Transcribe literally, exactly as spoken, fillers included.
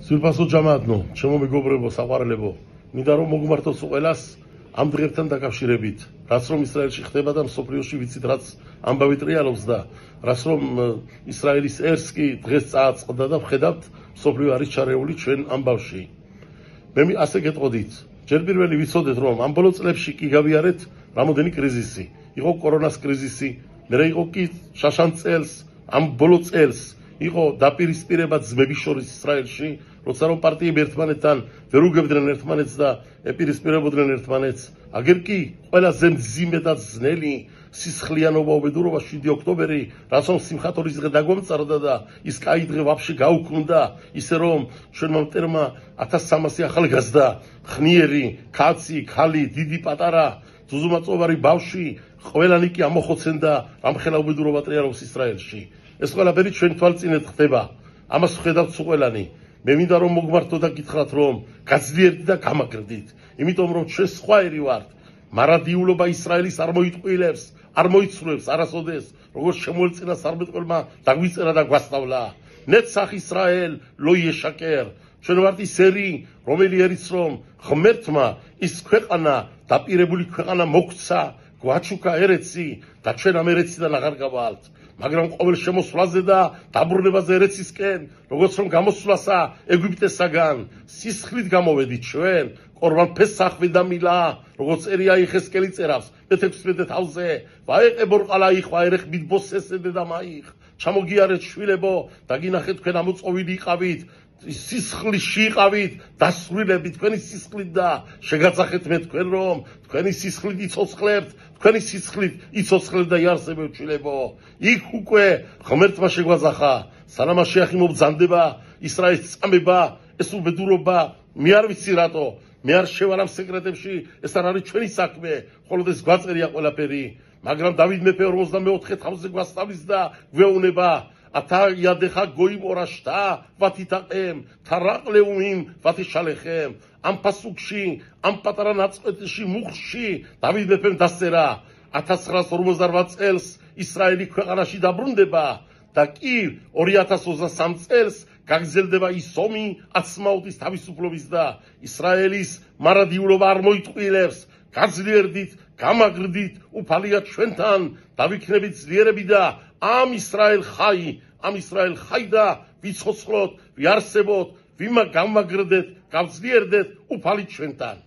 სვირფასო ჯამაათნო, ჩემო მეგობრებო, საყვარელებო, მინდა რომ მოგმართოს ყველას ამ დღებთან დაკავშირებით, რაც რომ ისრაელში ხდება და მსოფლიოში ვიცით რაც ამბავი ტრიალობს და რაც რომ ისრაელის ერს კი დღეს წააწყდა და ვხედავთ მსოფლიო არის ჩარეული ჩვენ ამბავში. მე ასე გეტყოდით, ჯერ პირველი ვიცოდეთ რომ ამ ბოლო წლებში კი გავიარეთ რამოდენი კრიზისი. იყო კორონას კრიზისი, მერე იყო კი შაშან წელს, ამ ბოლო წელს იყო დაპირისპირება ძმების შორის ისრაელში, როცა რომ პარტიები ერთმანეთთან ვერ უგებდნენ ერთმანეთს და ეპირისპირებოდნენ ერთმანეთს. აგერ კი ყველაზე მძიმე და ძნელი სისხლიანობა უბედურობა შვიდი ოქტომბერი, რაც რომ სიმხატორის დღე დაგვამწარდა და ის კაი დღე ვაფშე გაუქმდა, ისე რომ ჩვენმა მტერმა ათას სამასი ახალგაზრდა, ხნიერი, კაცი, ქალი, დიდი პატარა, ძუძუმაწოვარი ბავშვი, ყველანი კი ამოხოცენ და რამხელა უბედურობა ტრიალობს ისრაელში. ეს ყველაფერი ჩვენ თვალწინეთ ხდება. ამას ვხედავთ ყველანი. მე მინდა რომ მოგმართო და გითხრათ რომ გაძლიერდით და გამაგრდით, იმიტომ რომ ჩვენ სხვაერი ვართ. მარადიულობა ისრაელის არ მოიტყვილებს, არ მოიცვლებს არასოდეს, როგორც შემოელწინა სარბეთყოლმა დაგვიწერა და გვასწავლა. ნეცახ ისრაელ ლო იეშაკერ. ჩვენ ვართ ის ერი, რომელი ერიც რომ ღმერთმა ის ქვეყანა, დაპირებული ქვეყანა მოგცა, გვაჩუქა ერეცი და ჩვენ ამ ერეციდან აღარ გავალთ. მაგრამ ყოველ შემოსვლაზე და დაბრუნებაზე ერეცისკენ, როგორც რომ გამოსვლასა ეგვიპტესაგან, სისხლით გამოვედით ჩვენ, ყორბან ფესახ ვედამილა, როგორც წერია იეხესკელი წერავს, მეთექვსმეტე თავზე, ვაეყე ბორყალა იხვა ერეხ მიდბოსესე დედამაიხ, ჩამოგიარეთ შვილებო და გინახეთ თქვენ ამოწყობილი იყავით, სისხლში იყავით, დასრულებით თქვენი სისხლით და შეგაწახეთ მე თქვენ რომ თქვენი სისხლით იცოცხლებთ, თქვენი სისხლით იცოცხლებთ და იარსებებთ შვილებო. იქ უკვე ღმერთმა შეგვაძახა, სანამ შეახი მობძანდება ისრაელის წამება, ეს უბედურობა, მე არ ვიცი რატო, მე არ შევარ ამ სეკრეტებში, ეს არ არის ჩვენი საქმე, მხოლოდ ეს გვაწერია ყველაფერი, მაგრამ დავით მეფე ორმოცდამეოთხე თავზე გვასწავლის და გვეუბნება ათა იადეხა გოიმ ორაშტა ვათიტაყემ თარაყლეუმიმ ვათიშალეხემ. ამ პასუქში, ამ პატარა ნაწყვეტში მუხში დავით მეფემ დასწერა ათას ცხრაას ორმოცდარვაც წელს ისრაელი ქვეყანაში დაბრუნდება და კი ორი ათას ოცდასამ წელს გაგრძელდება ის ომი აცმაუდის თავისუფლების და ისრაელის მარადიულობა არ მოიტყვილებს. გაძლიერდით, გამაგრდით, უფალია ჩვენთან, დავიქნებით ძლიერები და ამ ისრაელ ხაი, ამ ისრაელ ხაი და ვიცოცხლოთ, ვიარსებოთ, ვიმა გამაგრდეთ, გავძლიერდეთ, უფალი ჩვენთან.